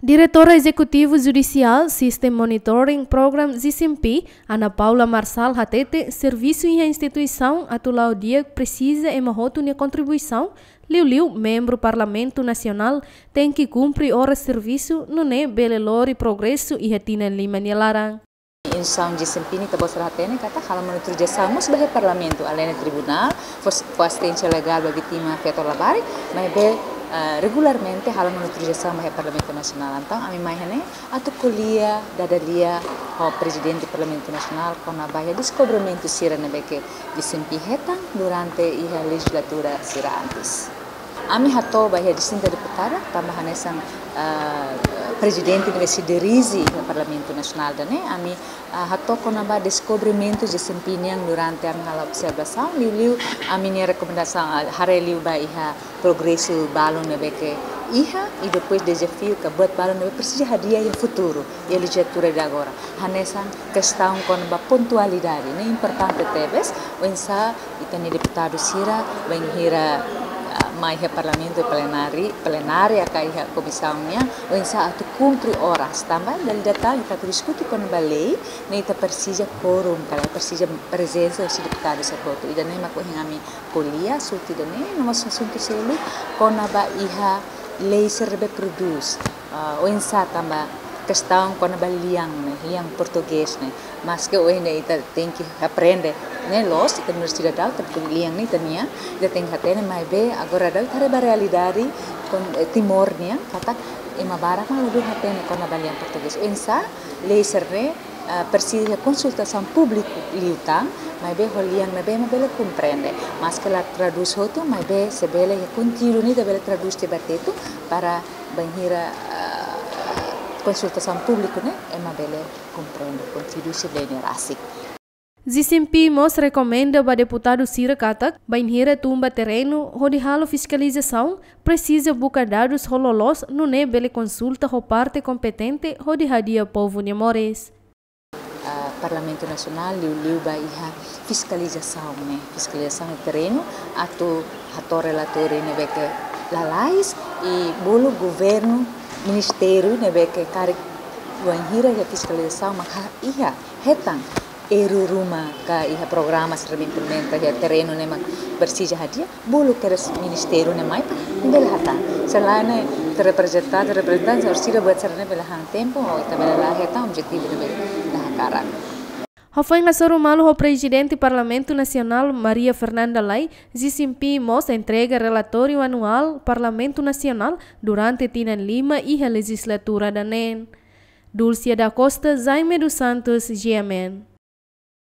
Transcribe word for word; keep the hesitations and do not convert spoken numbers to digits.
Diretora Ezekutiva Judisiál System Monitoring Program, G C M P, Ana Paula Marçal hatete, servisu iha instituisaun atu la'o di'ak presiza ema hotu nia kontribuisaun, liuliu membru Parlamentu Nasionál tenke kumpre oras servisu, nune'e bele lori progresu iha tinan lima nia laran. Instituisaun G C M P nian ita-boot sira hatene katak halo monitorizasaun mós ba iha Parlamentu, além de tribunál, fó, fó asisténsia legál ba vítima feto labarik, maibé, ah, regularmente halo monitorizasaun ba iha Parlamentu Nasionál. Entaun, ami mai iha ne'e atu ko'alia, dada lia ho Prezidente Parlamentu Nasionál kona-ba iha deskobrimentu sira ne'ebé ke G C M P hetan durante iha lejizlatura sira antes. Ami hato'o ba iha distinta deputada, tanba hanesan, ah, prezidente ne'ebé sei dirije iha Parlamentu Nasionál ida-ne'e, ami, ah, hato'o kona-ba deskobrimentu G C M P nian durante ami halo observasaun, liuliu ami-nia rekomendasaun, ah, haree liu ba iha progresu balun ne'ebé ke iha, i depois dezafiu ka buat balun ne'ebé presiza hadi'a iha futuru, iha lejizlatura ida agora. Hanesan kestaun kona-ba pontualidade, ne'e importante tebes, oinsá ita-nia deputadu sira, bainhira, ah, mai iha Parlamentu plenária, plenária ka iha komisaun nian, oinsá atu kumpre oras, tanba dala ida tan ita atu diskute kona-ba lei, ne'e ita presiza kuorum, ka lae, presiza prezensa husi deputadu sira hotu. Ida-ne'e mak ohin ami ko'alia, sorte ida-ne'e, no mós asuntu seluk kona-ba iha lei sira ne'ebé prodús, ah, oinsá tanba kestaun kona-ba lian ne'e, lian portugés ne'e. Maske ohin ne'e ita tenke aprende, ne'e loos, ita nu'udar sidadaun, ita lian ne'e ita-nian, ita tenke hatene, maibé agora daudaun ita haree ba realidade kon-, eh, Timor nian, katak ema barak mak ladún hatene kona-ba lian portugés. Oinsá lei sira ne'e, ah, presiza konsultasaun públiku liután, maibé ho lian ne'ebé ema bele komprende. Maske la tradús hotu, maibé se bele iha konteúdu ne'e ita bele tradús tiha ba tetun para bainhira, ah, konsultasaun públiku ne'e ema bele komprende konteúdu husi lei ne'e rasik. G C M P mós rekomenda ba deputadu sira katak, bainhira tun ba terrenu hodi halo fiskalizasaun, presiza buka dadus ho loloos, nune'e bele konsulta ho parte kompetente hodi hadi'a povu nia moris. Ah, Parlamentu Nasionál liuliu ba iha fiskalizasaun ne'e, fiskalizasaun iha terrenu, atu hato'o relatóriu ne'ebé ke lalais, i bolu governu, ministériu ne'ebé ke karik, bainhira iha fiskalizasaun mak ha-, iha hetan erru ruma ka iha programa sira ne'ebé implementa iha terrenu ne'e mak presiza hadi'a, bolu kedas ministériu ne'e mai para bele hatán. Se lae ne'e ita reprezentante, reprezentante, orsida buat sira ne'e bele han tempu, ou ita bele la hetan objetivu ne'ebé ita hakarak. Hafoin hasoru malu ho Prezidente Parlamentu Nasionál Maria Fernanda Lay, G C M P mós entrega relatóriu anuál Parlamentu Nasionál durante tinan lima iha lejizlatura ida-ne'e. Dulcia da Costa, Jaime dos Santos, G M N.